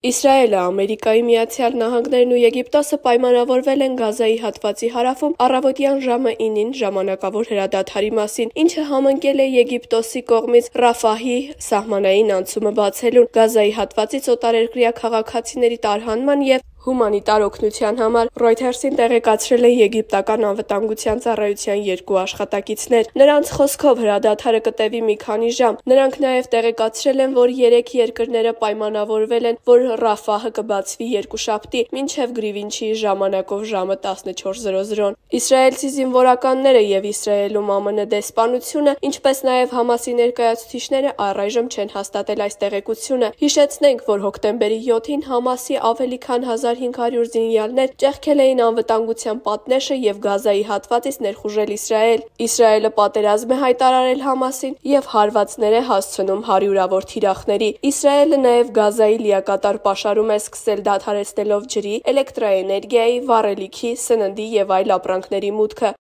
Իսրայելը, Ամերիկայի Միացյալ Նահանգներն ու Եգիպտոսը պայմանավորվել են Գազայի հատվածի հարավում առավոտյան ժամը 9-ին ժամանակավոր հրադադարի մասին, ինչը համընկել է Եգիպտոսի կողմից Ռաֆահի սահմանային անցումը բացելուն, Գազայի հատվածից օտարերկրյա քաղաքացիների տարհանման և հումանիտար օգնության համար, Reuters-ին տեղեկացրել են եգիպտական անվտանգության ծառայության երկու աշխատակիցներ։ Նրանց խոսքով հրադադարը կտևի մի քանի ժամ։ Նրանք նաև տեղեկացրել են, որ երեք երկրները պայմանավորվել են, որ Ռաֆահը կբացվի երկուշաբթի, մինչև Գրիվինչի ժամանակով ժամը 14:00-ն։ Իսրայելցի զինվորականները և Իսրայելում ԱՄՆ դեսպանությունը, ինչպես նաև Համասի ներկայացուցիչները առայժմ չեն հաստատել այս տեղեկությունը։ Հիշեցնենք, որ հոկտեմբերի 7-ին Համասի ավելի քան 1500 զինյալներ ճեղքել էին անվտանգության պատնեշը և Գազայի հատվածից ներխուժել Իսրայել։ Իսրայելը պատերազմ է հայտարարել Համասին և հարվածներ է հասցնում հարյուրավոր թիրախների։ Իսրայելը նաև Գազայի լիակատար պաշարում է սկսել դադարեցնելով ջրի, էլեկտրաէներգիայի, վառելիքի, սննդի և այլ ապրանքների մուտքը։